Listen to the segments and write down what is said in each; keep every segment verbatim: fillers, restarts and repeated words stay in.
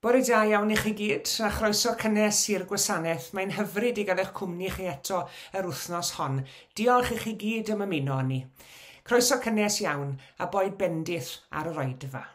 Bore da iawn i chi gyd, a chroeso cynnes i'r gwasanaeth. Mae'n hyfryd i gael eich cwmni chi eto yr wythnos hon. Diolch i chi gyd am ymuno â ni. Croeso cynnes iawn, a boed bendith ar yr oedfa.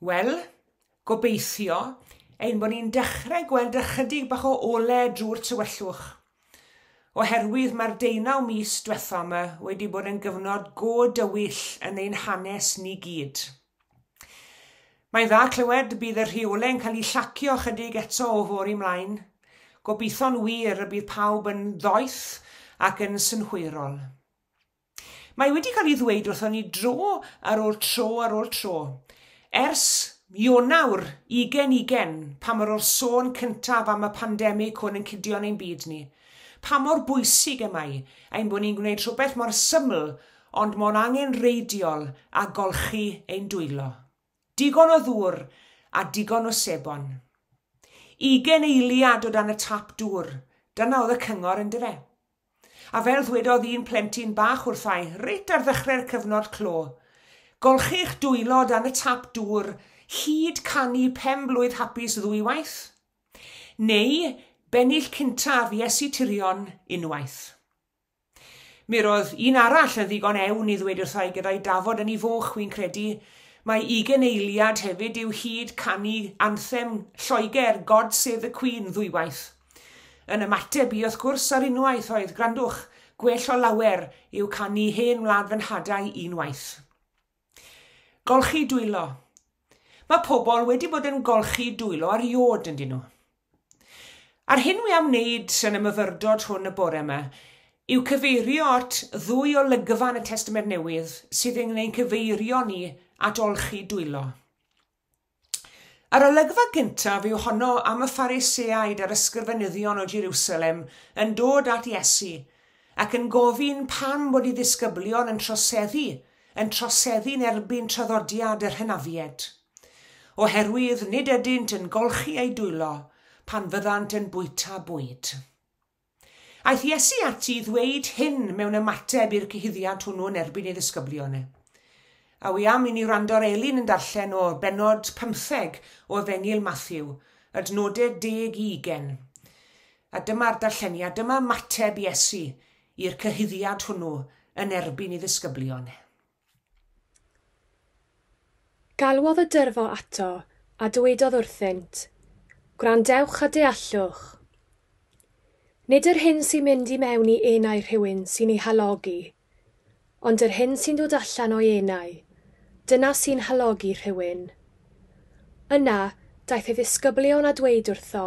Wel, gobeithio ein bod ni'n dechrau gweld ychydig bach o ole drwy'r tywyllwch. Oherwydd mae'r deunaw mis diwetha yma wedi bod yn gyfnod go dywyll yn ein hanes ni gyd. Mae'n dda clywed bydd y rheolau'n cael eu llacio ychydig eto o fory ymlaen. Gobeithio'n wir y bydd pawb yn ddoeth ac yn synhwyrol. Mae wedi cael ei ddweud wrthon ni dro ar ôl tro ar ôl tro. Ers Ionawr ugain ugain, pa mor o'r sôn cyntaf am y pandemig hwn yn cydio yn ein byd ni, pa mor bwysig y mae ein bod ni'n gwneud rhywbeth mor syml ond mor angenrheidiol a golchi ein dwylo. Digon o ddŵr a digon o sebon. Ugain eiliad o dan y tap dŵr, dyna oedd y cyngor yndyfe. A fel ddwedodd un plentyn bach wrthai, reit ar ddechrau'r cyfnod clo, golchi'ch dwylo dan y tap dŵr hyd canu pen blwydd hapus ddwywaith, neu bennill cyntaf Iesu Tirion unwaith. Mi roedd un arall yn ddigon ewn i ddweud wrthai gyda'i dafod yn ei foch, wi'n credu, mae ugain eiliad hefyd yw hyd canu anthem Lloegr God Save the Queen ddwywaith. Yn ymateb i wrth gwrs ar unwaith oedd, grandwch, gwell o lawer yw canu hen wlad fy nhadau unwaith. Golchi dwylo. Mae pobl wedi bod yn golchi dwylo ar iod yn dyn nhw. A'r hyn wi am wneud yn y myfyrdod hwn y bore yma yw cyfeirio at ddwy olygfa yn y Testament Newydd sydd yn ein cyfeirio ni at olchi dwylo. A'r olygfa gyntaf yw honno am y Phariseaid a'r ysgrifenyddion o Jerusalem yn dod at Iesu ac yn gofyn pam bod ei ddisgyblion yn troseddu, yn troseddu'n erbyn traddodiad yr hynafiaid. Oherwydd nid ydynt yn golchi eu dwylo pan fyddant yn bwyta bwyd. Aeth Iesu ati i ddweud hyn mewn ymateb i'r cyhuddiad hwnnw yn erbyn ei ddisgyblion e. A wi am i ni wrando ar Elin yn darllen o bennod pymtheg o Efengyl Mathew, adnodau deg i ugain. A dyma'r darlleniad, dyma ymateb Iesu i'r cyhuddiad hwnnw yn erbyn ei ddisgyblion. Galwodd y dyrfa ato a dywedodd wrthynt, "Gwrandewch a deallwch. Nid yr hyn sy'n mynd i mewn i enau rhywun sy'n ei halogi, ond yr hyn sy'n dod allan o'i enau, dyna sy'n halogi rhywun." Yna, daeth ei ddisgyblion a dweud wrtho,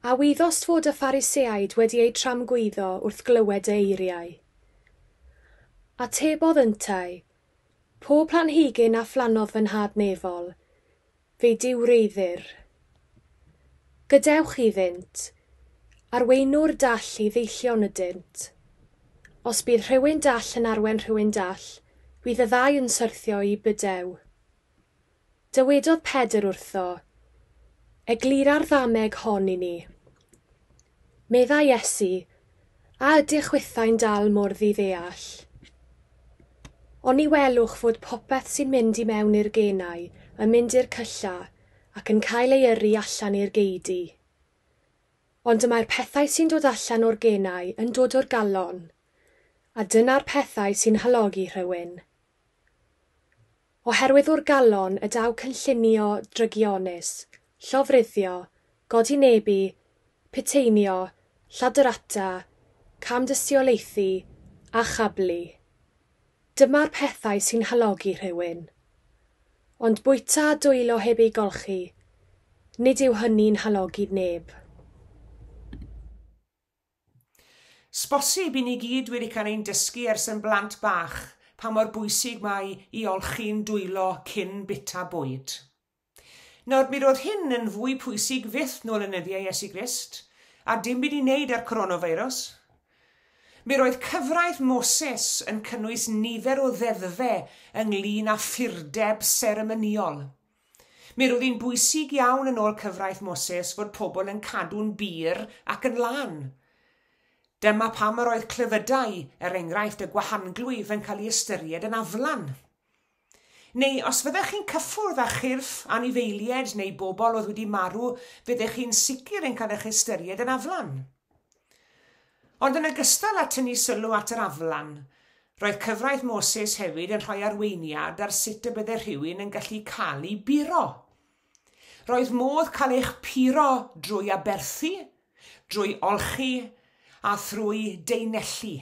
"A wyddost fod y Phariseaid wedi eu tramgwyddo wrth glywed y eiriau?" Atebodd yntau, "Pob planhigyn a phlannodd fy nhad nefol, fe'i diwreiddir. Gadewch iddynt, arweinwr dall i ddeillion ydynt. Os bydd rhywun dall yn arwain rhywun dall, bydd y ddau yn syrthio i bydew." Dywedodd Pedr wrtho, "Eglura'r ddameg hon i ni." Meddai Iesu, "A ydych chwithau'n dal mor ddiddeall? Oni welwch fod popeth sy'n mynd i mewn i'r genau yn mynd i'r cylla ac yn cael ei yrru allan i'r geudy. Ond y mae'r pethau sy'n dod allan o'r genau yn dod o'r galon, a dyna'r pethau sy'n halogi rhywun. Oherwydd o'r galon y daw cynllunio drygionus, llofruddio, godinebu, puteinio, lladrata, camdystiolaethu a chablu. Dyma'r pethau sy'n halogi rhywun. Ond bwyta a dwylo heb eu golchi, nid yw hynny'n halogi neb." Sbosib i ni gyd wedi cael ein dysgu ers yn blant bach pa mor bwysig mae i olchi'n dwylo cyn bwyta bwyd. Nawr, mi roedd hyn yn fwy pwysig fyth nôl yn nyddiau Iesu Grist, a dim byd i wneud â'r coronavirus. Mi roedd cyfraith Moses yn cynnwys nifer o ddeddfau ynglyn â phurdeb seremonïol. Mi roedd hi'n bwysig iawn yn ôl cyfraith Moses fod pobl yn cadw'n bur ac yn lân. Dyma pam yr oedd clefydau, er enghraifft y gwahanglwyf, yn cael ei ystyried yn aflan. Neu os fyddech chi'n cyffwrdd â chyrff anifeiliaid neu bobl oedd wedi marw, fyddech chi'n sicr yn cael eich ystyried yn aflan. Ond yn ogystal â tynnu sylw at yr aflan, roedd cyfraith Moses hefyd yn rhoi arweiniad ar sut y bydde rhywun yn gallu cael ei buro. Roedd modd cael eich puro drwy aberthu, drwy olchi a thrwy deunellu.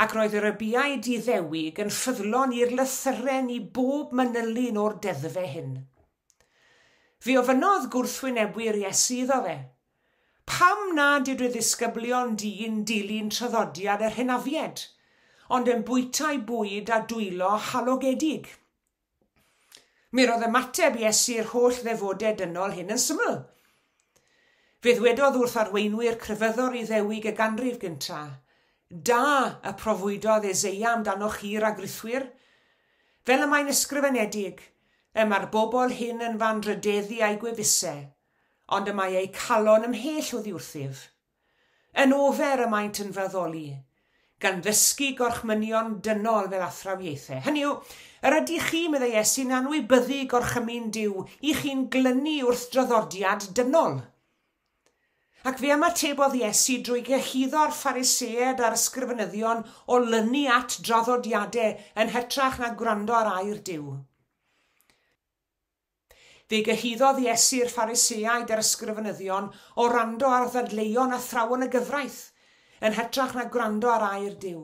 Ac roedd yr ybiaid Iddewig yn ffyddlon i'r lythyren i bob manylun o'r deddfau hyn. Fe ofynnodd gwrthwynebwyr Iesu iddo fe, "Pam nad yw dy ddisgyblion di'n dilyn traddodiad yr hynafiaid, ond yn bwyta'u bwyd a dwylo halogedig?" Mi roedd ymateb Iesu'r holl ddefodau dynol hyn yn syml. Fe ddwedodd wrth arweinwyr crefyddol Iddewig y ganrif gyntaf, "Da y proffwydodd Eseia amdanoch chi ragrithwyr, fel y mae'n ysgrifenedig, y mae'r bobl hyn yn fy anrhydeddu â'u gwefusau, ond y mae eu calon ymhell oddi wrthyf. Yn ofer y maent yn fy addoli, gan ddysgu gorchmynion dynol fel athrawiaethau." Hynny yw, yr ydych chi, meddai Iesu'n anwybyddu gorchymyn Duw, i chi'n glynu wrth draddodiad dynol. Ac fe ymatebodd Iesu drwy gyhuddo'r Phariseaid a'r ysgrifenyddion o lynu at draddodiadau yn hytrach na gwrando ar air Duw. Fe gyhuddodd Iesu'r Phariseaid a'r ysgrifenyddion o wrando ar ddadleuon athrawon y gyfraith yn hytrach na gwrando ar air Duw.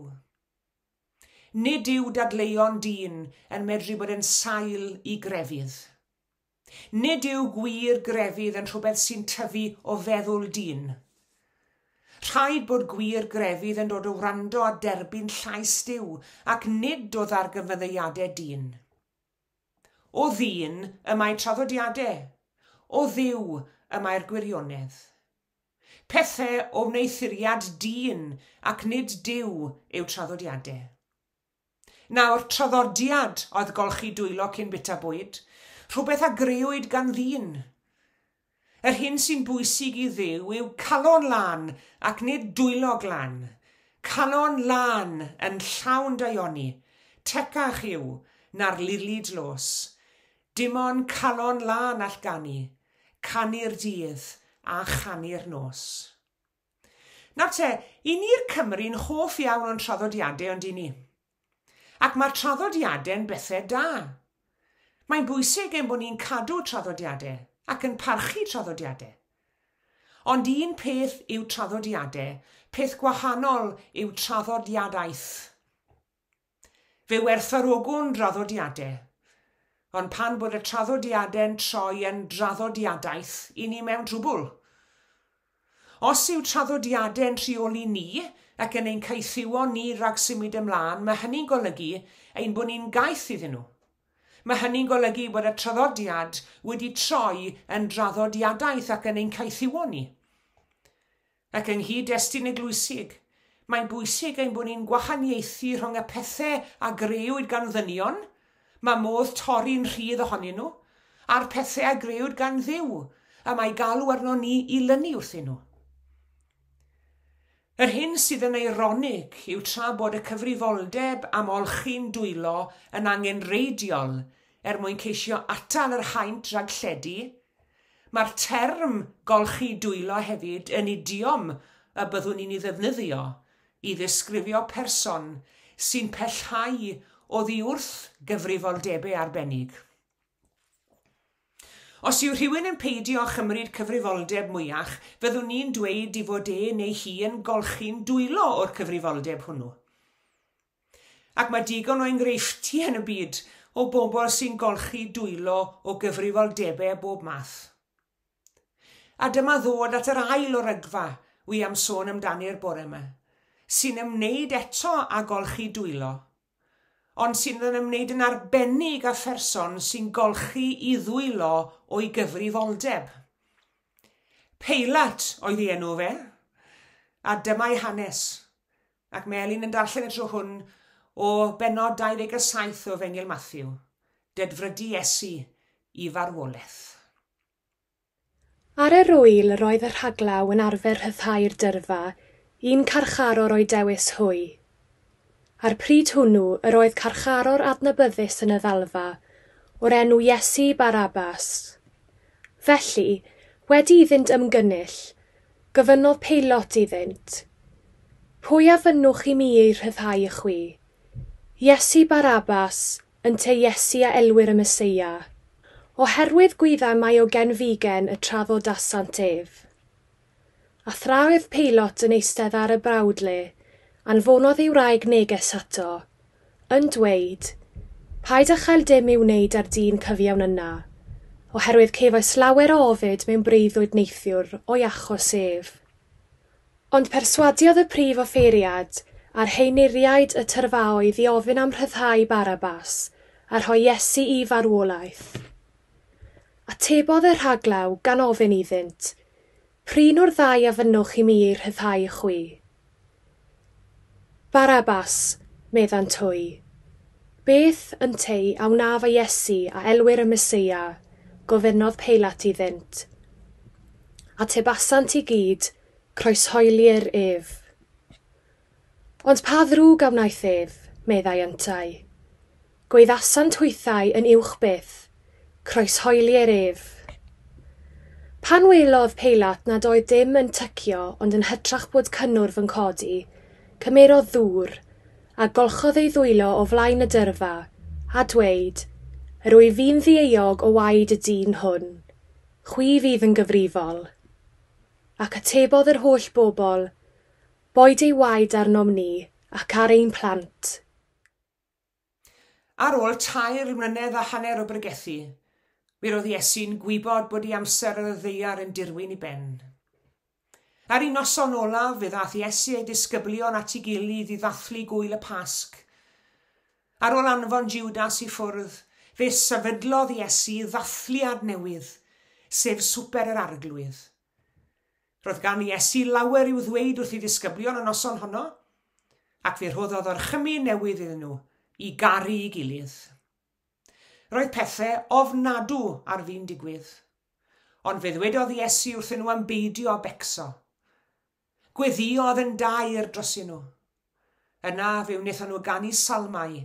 Nid yw dadleuon dyn yn medru bod yn sail i grefydd. Nid yw gwir grefydd yn rhywbeth sy'n tyfu o feddwl dyn. Rhaid bod gwir grefydd yn dod o wrando a derbyn llais Duw ac nid o ddargyfyddiadau dyn. O ddyn y mae traddodiadau, o Dduw y mae'r gwirionedd. Pethau o wneuthuriad dyn ac nid Duw yw traddodiadau. Nawr, traddodiad oedd golchi dwylo cyn bwyta bwyd, rhywbeth a grëwyd gan ddyn. Yr hyn sy'n bwysig i Dduw yw calon lân ac nid dwylo glân. Calon lân yn llawn daioni, tecach yw na'r lili dlos. Dim ond calon lân all ganu, canu'r dydd a chanu'r nos. Nawr te, i ni'r Cymry'n hoff iawn o'n traddodiadau ond i ni. Ac mae'r traddodiadau'n bethau da. Mae'n bwysig ein bod ni'n cadw traddodiadau ac yn parchu traddodiadau. Ond un peth yw traddodiadau, peth gwahanol yw traddodiadaeth. Fe werthfawrogwn draddodiadau, ond pan bod y traddodiadau'n troi yn draddodiadaeth, i ni mewn trwbl. Os yw traddodiadau'n rheoli ni ac yn ein caethiwo ni rhag symud ymlaen, mae hynny'n golygu ein bod ni'n gaeth iddyn nhw. Mae hynny'n golygu bod y traddodiad wedi troi yn draddodiadaeth ac yn ein caethiwo ni. Ac yng nghyd-destun eglwysig, mae'n bwysig ein bod ni'n gwahaniaethu rhwng y pethau a grëwyd gan ddynion, mae modd torri'n rhydd ohonyn nhw, a'r pethau a grëwyd gan Dduw, a mae galw arno ni i lynu wrthyn nhw. Yr hyn sydd yn eironig yw tra bod y cyfrifoldeb am olchi'n dwylo yn angenrheidiol er mwyn ceisio atal yr haint rhag lledu, mae'r term golchi dwylo hefyd yn idiom y byddwn ni'n ei ddefnyddio i ddisgrifio person sy'n pellhau oddi wrth gyfrifoldebau arbennig. Os yw rhywun yn peidio â chymryd cyfrifoldeb mwyach, fyddwn ni'n dweud i fod e neu hi yn golchi'n dwylo o'r cyfrifoldeb hwnnw. Ac mae digon o enghreifftiau yn y byd o bobl sy'n golchi dwylo o gyfrifoldebau bob math. A dyma ddod at yr ail olygfa wi am sôn amdani'r bore yma, sy'n ymwneud eto â golchi dwylo, ond sy'n yn ymwneud yn arbennig â pherson sy'n golchi i ddwylo o'i gyfrifoldeb. Peilat oedd ei enw fe, a dyma'i hanes, ac mae Elin yn darllen y tro hwn o bennod dau ddeg a saith o Efengyl Mathew, dedfrydu Iesu i farwolaeth. Ar yr ŵyl yr oedd y rhaglaw yn arfer rhyddhau'r dyrfa, un carcharor o'i dewis hwy. A'r pryd hwnnw yr oedd carcharor adnabyddus yn y ddalfa, o'r enw Iesu Barabbas. Felly, wedi iddynt ymgynnull, gofynnodd Peilot iddynt, "Pwy a fynnwch i mi ei rhyddhau i chwi? Iesu Barabbas, ynte Iesu a elwir y Meseia?" Oherwydd gwyddai mai o genfigen y traddodasant ef. A thra oedd Peilot yn eistedd ar y brawdle, anfonodd ei wraig neges ato, yn dweud, "Paid â chael dim i'w wneud â'r dyn cyfiawn yna, oherwydd cefais lawer o ofid mewn breuddwyd neithiwr o'i achos ef." Ond perswadiodd y prif offeiriad a'r henuriaid y tyrfaoedd i ofyn am rhyddhau Barabbas a rhoi Iesu i farwolaeth. Atebodd y rhaglaw gan ofyn iddynt, "P'run o'r ddau a fynnwch i mi ei rhyddhau i chwi?" "Barabbas," meddant hwy. "Beth, ynteu, a wnaf â Iesu a elwir y Meseia?" gofynnodd Peilat iddynt. Atebasant i gyd, "Croeshoelir ef." "Ond pa ddrwg a wnaeth ef?" meddai yntau. Gwaeddasant hwythau yn uwch byth, "Croeshoelir ef." Pan welodd Peilat nad oedd dim yn tycio ond yn hytrach bod cynnwrf yn codi, cymerodd ddŵr, a golchodd ei ddwylo o flaen y dyrfa, a dweud, "Yr wyf fi'n ddieuog o waed y dyn hwn. Chwi fydd yn gyfrifol." Ac atebodd yr holl bobl, "Boed ei waed arnom ni ac ar ein plant." Ar ôl tair mlynedd a hanner o bregethu, Mi roedd Iesu'n gwybod bod ei amser ar y ddaear yn dirwyn i ben. Ar ei noson olaf, fe ddaeth Iesu a'i disgyblion at ei gilydd i ddathlu gwyl y Pasg. Ar ôl anfon Judas i ffwrdd, fe sefydlodd Iesu ddathliad newydd, sef Swper yr Arglwydd. Roedd gan Iesu lawer i'w ddweud wrth ei ddisgyblion y noson honno, ac fe rhoddodd orchymyn newydd iddyn nhw i garu ei gilydd. Roedd pethau ofnadw ar fin digwydd, ond fe ddwedodd Iesu wrthyn nhw am beidio â becso. Gweddïodd yn daer drosyn nhw. Yna fe wnaethon nhw ganu salmau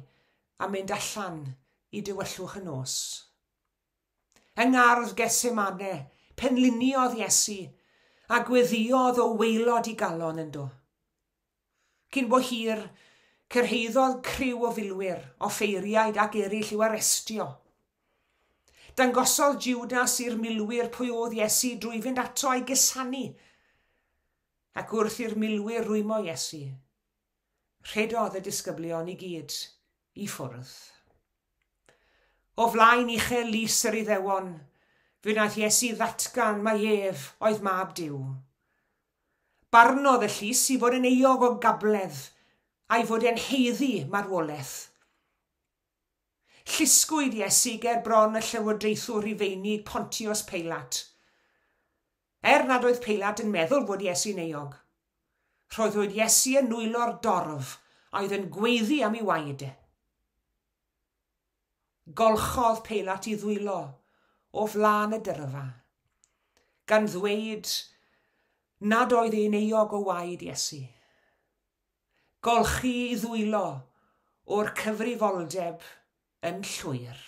a mynd allan i dywyllwch y nos. Yng ngardd Gethsemane, penliniodd Iesu a gweddïodd o waelod ei galon ynddo. Cyn bo hir, cyrhaeddodd criw o filwyr, offeiriaid ac eraill i'w arestio. Dangosodd Judas i'r milwyr pwy oedd Iesu drwy fynd ato a'i gusanu. Ac wrth i'r milwyr rwymo Iesu, rhedodd y disgyblion i gyd i ffwrdd. O flaen uchel lys yr Iddewon, fe wnaeth Iesu ddatgan mai ef oedd mab Duw. Barnodd y llys i fod yn euog o gabledd a'i fod e'n haeddu marwolaeth. Llusgwyd Iesu ger bron y llywodraethwr Rufeinig Pontius Peilat. Er nad oedd Peilat yn meddwl fod Iesu'n euog, rhoddwyd Iesu yn nwylo'r dorf a oedd yn gweiddi am ei waed. Golchodd Peilat ei ddwylo o flaen y dyrfa, gan ddweud nad oedd e'n euog o waed Iesu. Golchi ei ddwylo o'r cyfrifoldeb yn llwyr.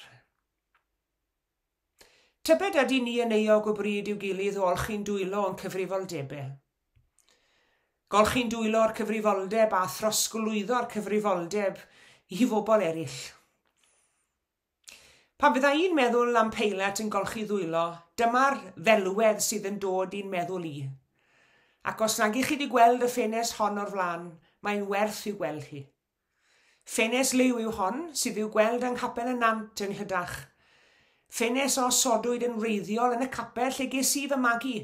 Tybed ydy ni yn euog o bryd i'w gilydd o olchi'n dwylo o'n cyfrifoldebau? Golchi'n dwylo o'r cyfrifoldeb a throsglwyddo'r cyfrifoldeb i fobl eraill. Pan fydda i'n meddwl am Peilat yn golchi ddwylo, dyma'r ddelwedd sydd yn dod i'n meddwl i. Ac os nag ych chi wedi gweld y ffenest hon o'r flaen, mae'n werth i'w gweld hi. Ffenest liw yw hon sydd i'w gweld yng Nghapel y Nant yng Nghlydach. Ffenest a osodwyd yn wreiddiol yn y capel lle ges i fy magu,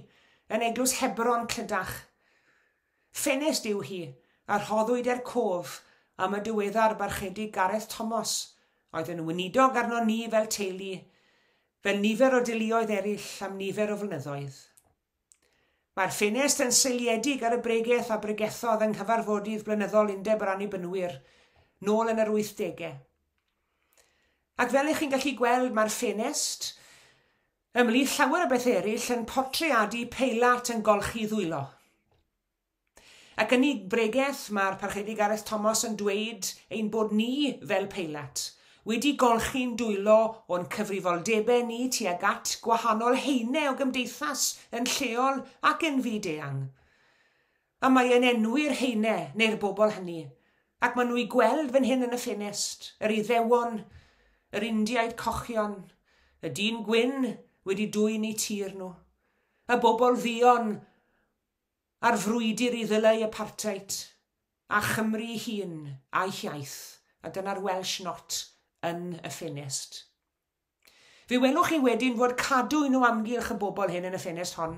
yn eglwys Hebron Clydach. Ffenest yw hi, a rhoddwyd er cof am y diweddar barchedig Gareth Thomas, oedd yn weinidog arno ni fel teulu, fel nifer o deuluoedd eraill am nifer o flynyddoedd. Mae'r ffenest yn seiliedig ar y bregeth a bregethodd yng nghyfarfodydd blynyddol Undeb yr Annibynwyr, nôl yn yr wythdegau. Ac fel ych chi'n gallu gweld, mae'r ffenest, ymhlith llawer o beth eraill, yn portreadu Peilat yn golchi ddwylo. Ac yn ei bregeth, mae'r Parchedig Gareth Thomas yn dweud ein bod ni fel Peilat wedi golchi'n dwylo o'n cyfrifoldebau ni tuag at gwahanol haenau o gymdeithas yn lleol ac yn fyd-eang. A mae e'n enwi'r haenau neu'r bobl hynny, ac maen nhw i gweld fan hyn yn y ffenest, yr Iddewon, yr Indiaid cochion, y dyn gwyn wedi dwyn eu tir nhw, y bobl dduon a'r frwydr i ddileu apartheid, a Chymru hun a'i hiaith, a dyna'r Welsh Not yn y ffenest. Fe welwch chi wedyn fod cadwyn o amgylch y bobl hyn yn y ffenest hon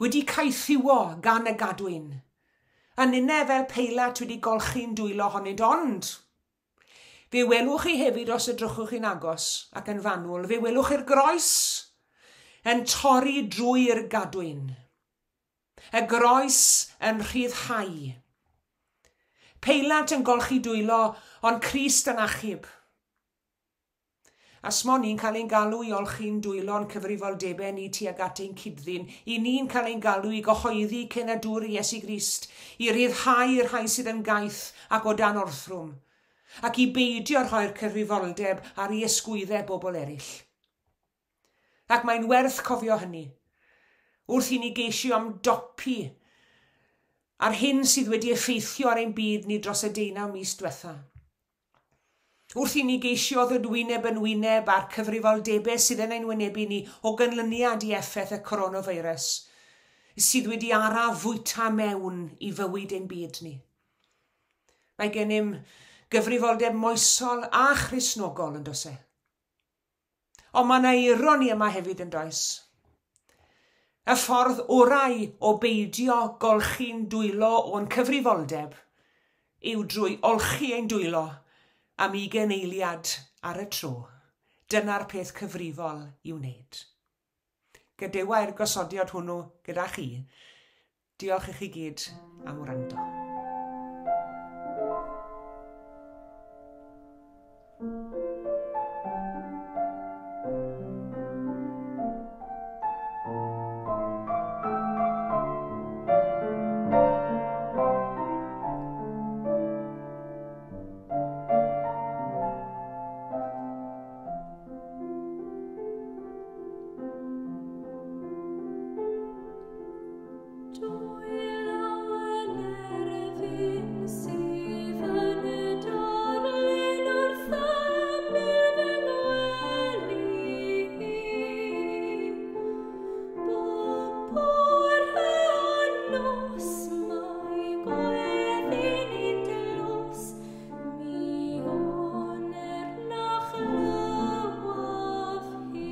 wedi caethiwo gan y gadwyn, a ninne fel Peilat wedi golchi'n dwylo honynt, ond fe welwch chi hefyd os edrychwch chi'n agos ac yn fanwl, fe welwch chi'r groes yn torri drwy'r gadwyn. Y groes yn rhyddhau. Peilat yn golchi dwylo, ond Crist yn achub. A smo ni'n cael ein galw i olchi'n dwylo'n cyfrifoldebau ni tuag at ein cyd-ddyn, i ni'n cael ein galw i gyhoeddi cenadwr Iesu Grist, i ryddhau'r rhai sydd yn gaeth ac o dan orthrwm, ac i beidio rhoi'r cyfrifoldeb ar i ysgwyddau bobl eraill. Ac mae'n werth cofio hynny, wrth i ni geisio ymdopi ar hyn sydd wedi effeithio ar ein byd ni dros y deunaw mis diwetha. Wrth i ni geisio ddod wyneb yn wyneb a'r cyfrifoldebau sydd yn ein wynebu ni o ganlyniad i effaith y coronavirus, sydd wedi araf fwyta mewn i fywyd ein byd ni. Mae gennym gyfrifoldeb moesol a Christnogol yn does e. Ond mae yna ironi yma hefyd yn does. Y ffordd orau o beidio golchi'n dwylo o'n cyfrifoldeb yw drwy olchi ein dwylo am ugain eiliad ar y tro. Dyna'r peth cyfrifol i'w wneud. Gadewai'r gosodiad hwnnw gyda chi. Diolch i chi gyd am wrando. Dwy law yn erfyn sydd yn y darlun wrth ymyl fy ngwely i. Bob bore a nos mae gweddi'n i dlos, mi wn er na chlywaf hi.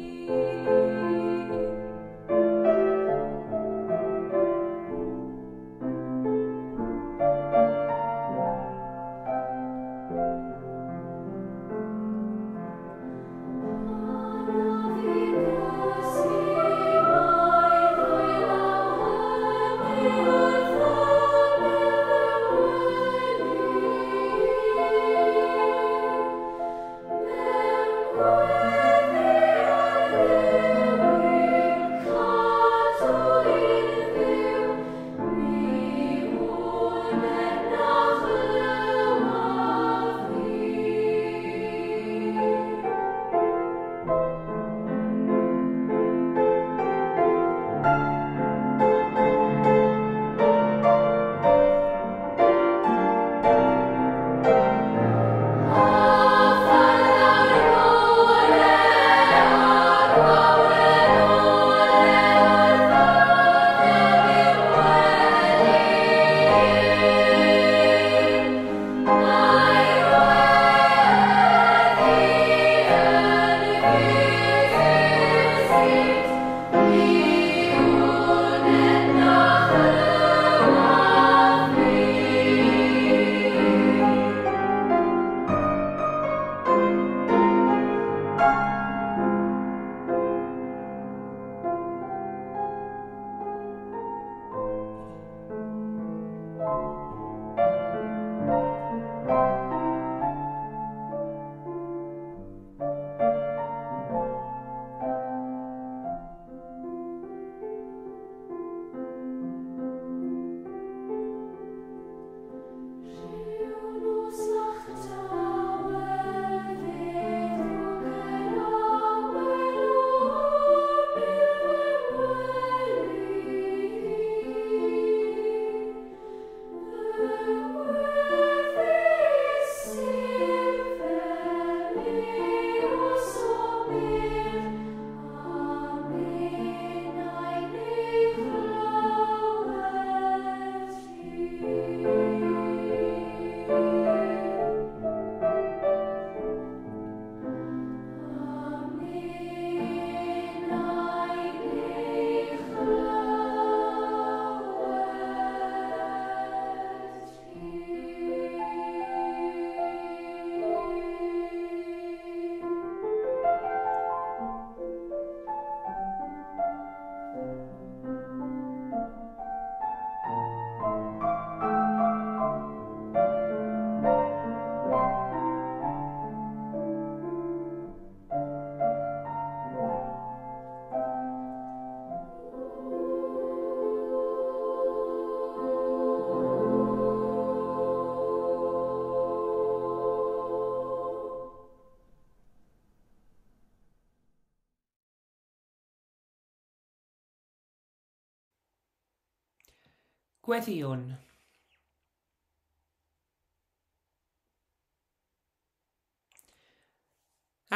Gweddïwn.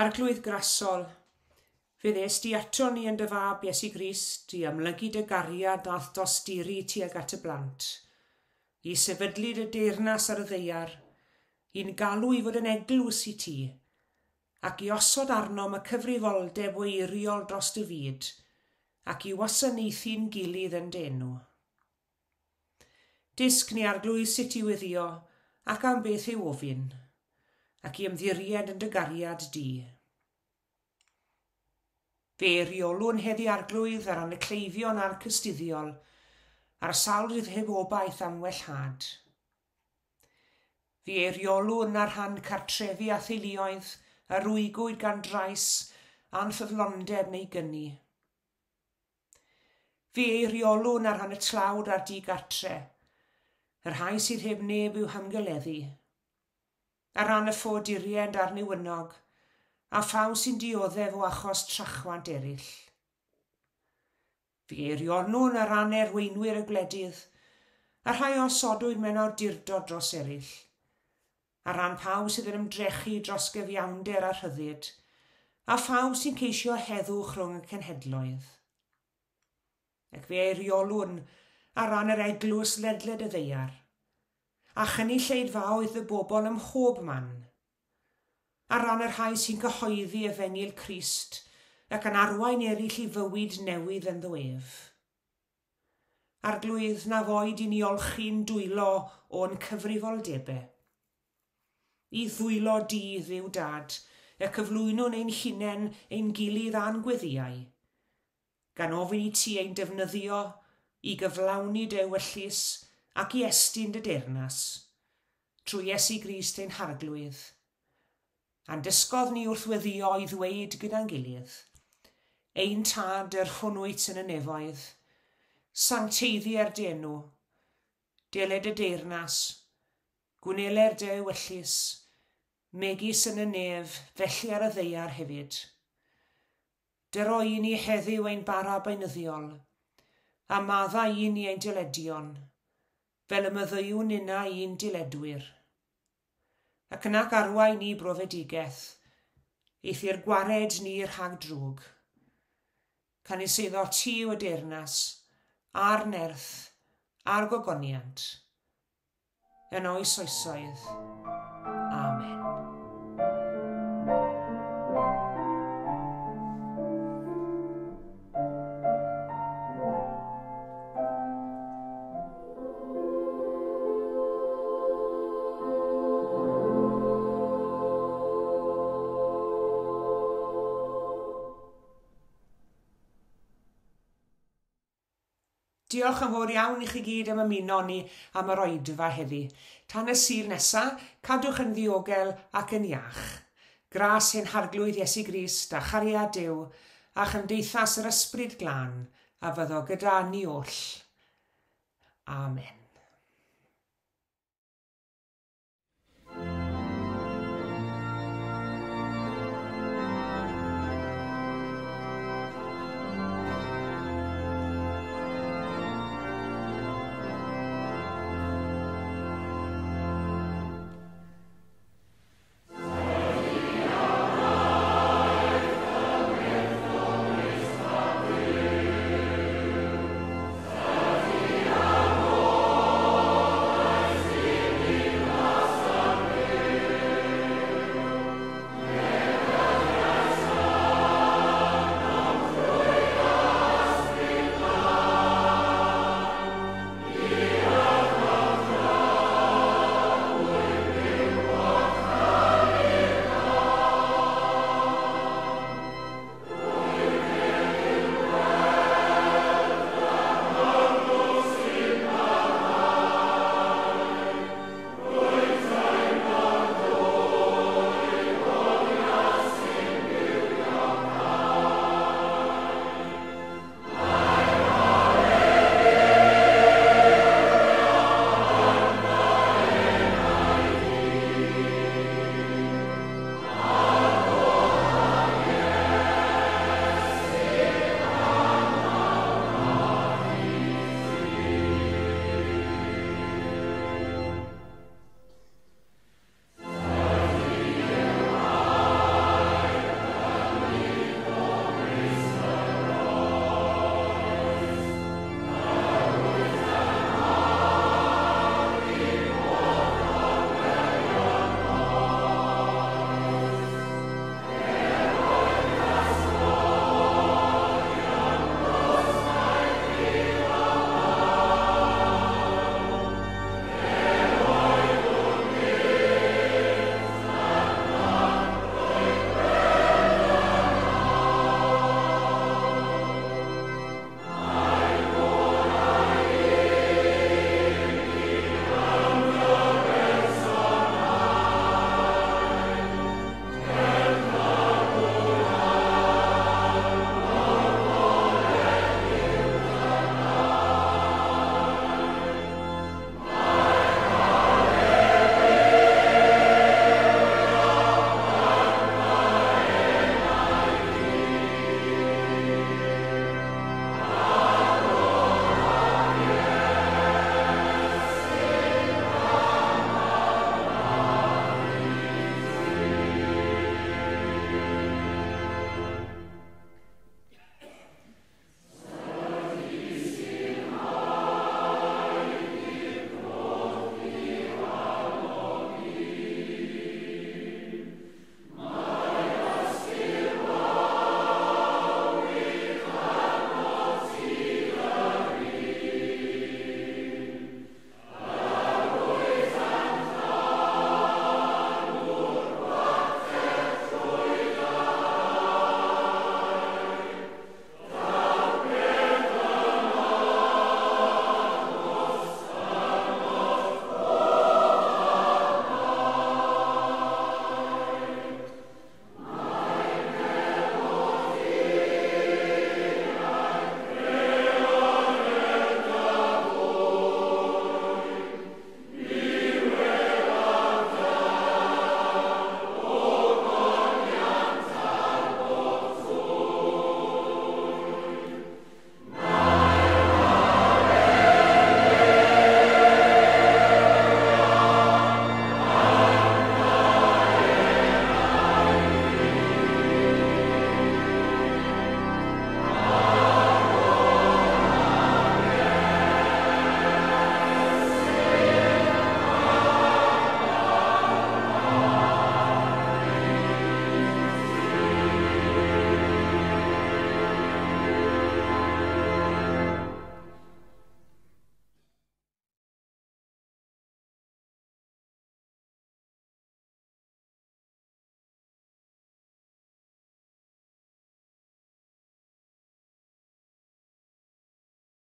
Arglwydd grasol, fe ddes di ato ni yn dy fab Iesu Grist i amlygu dy gariad a'th dosturi tuag at y blant, i sefydlu dy deyrnas ar y ddaear, i'n galw i fod yn eglwys i ti, ac i osod arnom y cyfrifoldeb o eiriol dros dy fyd, ac i wasanaethu'n gilydd yn d'enw. Dysg ni Arglwydd sut i weddïo ac am beth i'w ofyn, ac i ymddiried yn dy gariad di. Fe eiriolwn heddi Arglwydd ar ran y cleifion a'r cystuddiol, a'r sawl sydd heb obaith am wellhad. Fe eiriolwn ar rhan cartrefi a theuluoedd a rwygwyd gan drais, anffyddlondeb neu gyni. Fe eiriolwn ar rhan y tlawd a'r digartre, y rhai sydd heb neb i'w hamgyleddu, ar ran y ffoaduriaid a'r newynog, a phawb sy'n dioddef o achos trachwant eraill. Fe eiriolwn ar ran erweinwyr y gwledydd, a rhai osodwyd mewn awdurdod dros eraill, ar ran pawb sydd yn ymdrechu dros gyfiawnder a rhyddid, a phawb sy'n ceisio heddwch rhwng y cenhedloedd. Ac fe eiriolwn ar ran yr eglwys ledled y ddaear, a chynulleidfaoedd y bobl ym mhob man, ar ran y rhai sy'n cyhoeddi efengyl Crist ac yn arwain eraill i fywyd newydd ynddo ef. Arglwydd, na foed i ni olchi'n dwylo o'n cyfrifoldebau. I ddwylo di, Dduw Dad, y cyflwynwn ein hunain ein gilydd a'n gweddïau, gan ofyn i ti ein defnyddio i gyflawni dy ewyllys ac i estyn dy deyrnas, trwy Iesu Grist ein Harglwydd. A'n dysgodd ni wrth weddïo i ddweud gyda'n gilydd, Ein Tad yr hwn wyt yn y nefoedd, sancteiddier dy enw, deled y deyrnas, gwneler dy ewyllys, megis yn y nef, felly ar y ddaear hefyd. Dyro i ni heddiw ein bara beunyddiol, a madda i ni ein dyledion, fel y maddeuwn ninna i'n diledwyr. Ac yna arwain ni brofedigaeth, eithr gwared ni rhag drwg. Canys eiddo ti yw y deyrnas, a'r nerth, a'r gogoniant, yn oes oesoedd. Amen. Diolch yn fawr iawn i chi gyd am ymuno ni am yr oedfa heddi. Tan y Sul nesa, cadwch yn ddiogel ac yn iach. Gras ein Harglwydd Iesu Grist a chariad Duw a chymdeithas yr Ysbryd Glân a fyddo gyda ni oll. Amen.